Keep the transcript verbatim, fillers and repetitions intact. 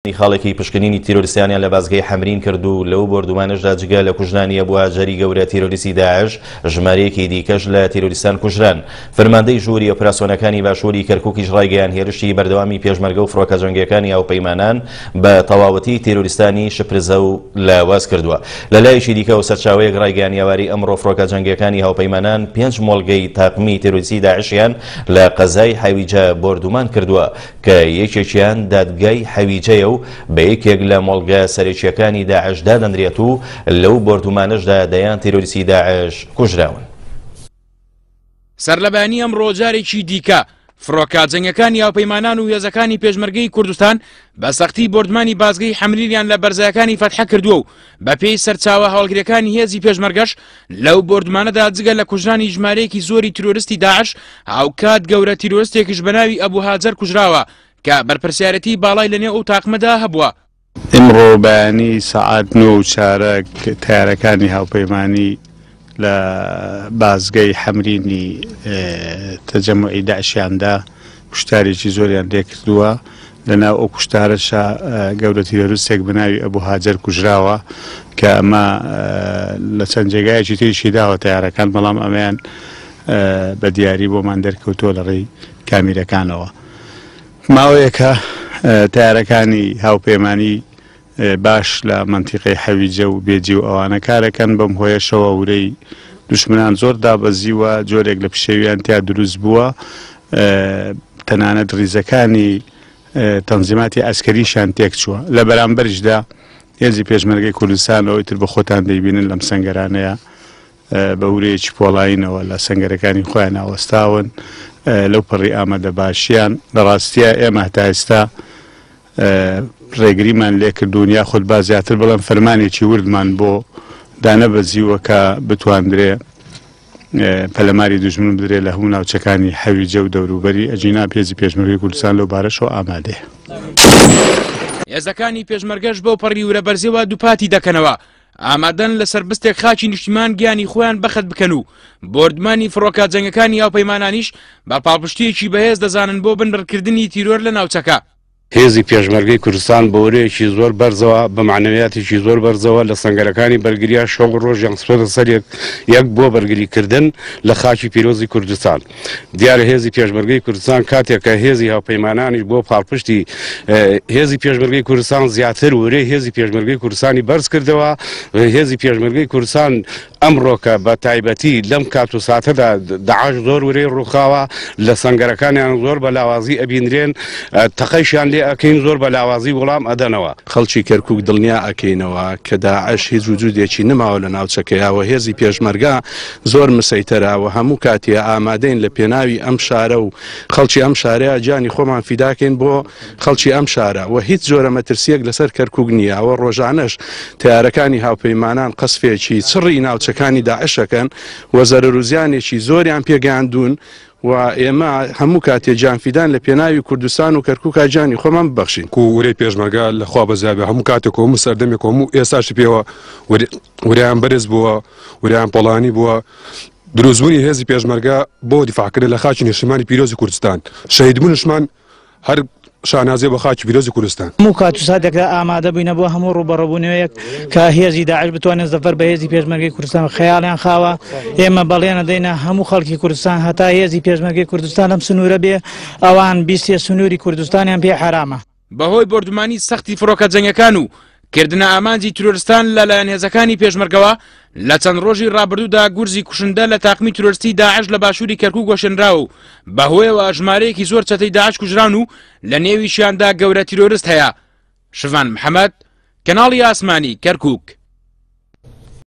خاڵێکی پشکنینی تیرۆریستانیان لە بازگەی حەمرین کرد و لەو بۆردومانەشدا جگە لە کوژرانی ئەبو هاجەری گەورە تیرۆریستی داعش ژمارەیەکی دیکەش لە تیرۆریستان کوژران. فەرماندەی ژووری ئۆپراسیۆنەکانی باشووری کەرکووکیش ڕایگەیان هێرشی بەردەوامی پێشمەرگە و فڕۆکە جەنگیەکانی هاوپەیمانان بە تەواوەتی تیرۆریستانی شپرزە و لاواز کردووە. لە لایەکی دیکەوە سەرچاوەیەک ڕایگەیان ئێوارەی ئەمڕۆ فڕۆکە جەنگیەکانی هاوپەیمانان پێنج مۆڵگەی تاقمی تیرۆریستی داعشیان لە قەزای حەویجە بۆردومان کردووە کە یەکێکیان دادگای حەویجەیە و بە یەکێک لە مۆڵگە سەرەکییەکانی داعش دادەنرێت و لەو بۆردومانەشدا دەیان تیرۆریستی داعش کوژراون. سەرلەبەیانی ئەمڕۆ جارێکی دیکە فڕۆکە جەنگەکانی هاوپەیمانان و هێزەکانی پێشمەرگەی کوردستان بە سەختی بۆردمانی بازگەی حەمرینیان لە بەرزایەکانی فەتحە کردووە و بەپێی سەرچاوە هەواڵگریەکانی هێزی پێشمەرگەش لەو بۆردمانەدا جگە لە کوژرانی ژمارەیەکی زۆری تیرۆریستی داعش هاوکات گەورە تیرۆریستێکیش بە ناوی ئەبوو هاجەر کوژراوە کە بەرپرسیارەتی باڵای لەنێو ئەو تاقمەدا هەبووە. ئمڕۆ بەیانی سەعات نۆ و چارەک تەیارەکانی هاوپەیمانی لە بازگەی حەمرینی تەجەموعی داعشیاندا کوشتارێکی زۆریان لێکردووە. لەناو ئەو کوشتارەشا گەورە تیرۆریستێک بە ناوی ئەبوو هاجەر کوژراوە کە ئەمە لە چەند جێگایەکی تریشی داوە تەیارەکان، بەڵام ئەمەیان بە دیاری بۆمان دەرکەوتووە لە ڕێی کامیرەکانەوە. ماوەیەکە تەیارەکانی هاوپەیمانی باش لە مەنتیقەی حەویجە و بێجی و ئەوانە کارەکەن، بەم هۆیەشەوە ورەی دوشمنان زۆر دابەزیوە، جۆرێک لە پشێویان تیا دروست بووە، تەنانەت ریزەکانی تەنزیماتی ئەسکەریشیان تێکچووە. لە بەرامبەریشدا هێزی پێشمەرگەی کوردستان ئەوەی تر بە خۆتان دەیبینن لەم سەنگەرانەیە بە ورەیەکی پۆڵایینەوە لە سەنگەرەکانی خۆیان ئاوەستاون لەو پەڕی ئامادە باشیان. لە ڕاستیە ئێمە هەتا ئێستا ڕێگریمان لێکردوون، یاخود با زیاتر بڵێم فەرمانێکی وردمان بۆ دانەبەزیوە کە بتواندرێ پەلەماری دوژمن بدرێ لە هەموو ناوچەکانی حەویجە و دەوروبەری. ئەجینا پێزی پێشمەرگەی کوردستان لەو بارەشەوە ئامادەیە. هێزەکانی پێشمەرگەش بەو پەڕی ورە بەرزیەوە دووپاتی دەکەنەوە ئامادەن لەسەر بستێک خاکی نیشتیمان گیانی خۆیان بەخت بکەن و بۆردمانی فڕۆکە جەنگەکانی هاوپەیمانانیش بە پاڵپشتیەکی بەهێز دەزانن بۆ بنبڕکردنی تیرۆر لە ناوچەکە. هێزی پێشمەرگەی کوردستان بە ورەیەکی زۆر بەرزەوە، بە معنەویاتێکی زۆر بەرزەوە لە سەنگەرەکانی بەرگریا شەو ڕۆژیان خستۆتە سەر یەک بۆ بەرگریکردن لە خاکی پیرۆزی کوردستان. دیارە هێزی پێشمەرگەی کوردستان کاتێک کە هێزی هاوپەیمانانیش بۆ پاڵپشتی هێزی پێشمەرگەی کوردستان زیاتر ورەی هێزی پێشمەرگەی کوردستانی بەرز کردەوە. هێزی پێشمەرگەی کوردستان ئەمڕۆکە بە تایبەتی لەم کات و ساتەدا داعش زۆر ورەی ڕووخاوە، لە سەنگەرەکانیان زۆر بە لاوازی ئەبینرێن، تەقەیشیان لێ ئەکەین زۆر بە لاوازی وەڵام ئەدەنەوە. خەڵکی کەرکووک دڵنیا ئەکەینەوە کە داعش هیچ وجودێکی نەماوە لە ناوچەکەیەوە، هێزی پێشمەرگە زۆر مسەیتەرە و هەموو کاتیە ئامادەین لە پێناوی ئەم شارە و خەڵکی ئەم شارەیە گیانی خۆمان فیداکەین بۆ خەڵکی ئەم شارە و هیچ جۆرە مەترسیەک لەسەر کەرکووک نییە. ئەوە ڕۆژانەش تەیارەکانی هاوپەیمانان قەسفێکی چڕی ناوچەکانی داعشەکەن و زەرەر و زیانێکی زۆریان پێگەیاندوون و ئێمە هەموو کاتێ گیانفیدان لە پێناوی کوردستان و کەرکووکا گیانی خۆمان ببەخشین. کو ورەی پێشمەرگە لە خوا بەزیابێ هەموو کاتێک و هەموو سەردەمێک و هەموو ئێستاشی پێوە ورەیان بەرز بووە، ورەیان پۆڵانی بووە. دروستبوونی هێزی پێشمەرگە بۆ دیفاعکردن لە خاکی نیشتمانی پیرۆزی کوردستان، شەهیدبوونشمان هەر شانازیە بە خاکی پیرۆزی کوردستان. هەموو کات و ساتێکدا ئامادە بووینە بۆ هەموو ڕووبەڕووبوونەوەیەک کە هێزی داعش بتوانێت زەفەر بە هێزی پێشمەرگەی کوردستان خەیاڵیان خاوە. ئێمە بەڵێنە دەینە هەموو خەڵکی کوردستان هەتا هێزی پێشمەرگەی کوردستان لەم سنوورە بێ، ئەوان بیستێ سنووری کوردستانیان پێ حرامە. بەهۆی بۆردومانی سەختی فڕۆکە جەنگەکان و کردنە ئامانجی تیرۆریستان لەلایەن هێزەکانی پێشمەرگەوە لە چەند ڕۆژی ڕابردوودا گورزی کوشندە لە تاقمی تیرۆریستی داعش لە باشووری کەرکووک وەشێنراوە و بەهۆیەوە ژمارەیەکی زۆر چەتەی داعش کوژران و لە نێویشیاندا گەورە تیرۆریست هەیە. شڤان محەممەد، کەناڵی ئاسمانی کەرکووک.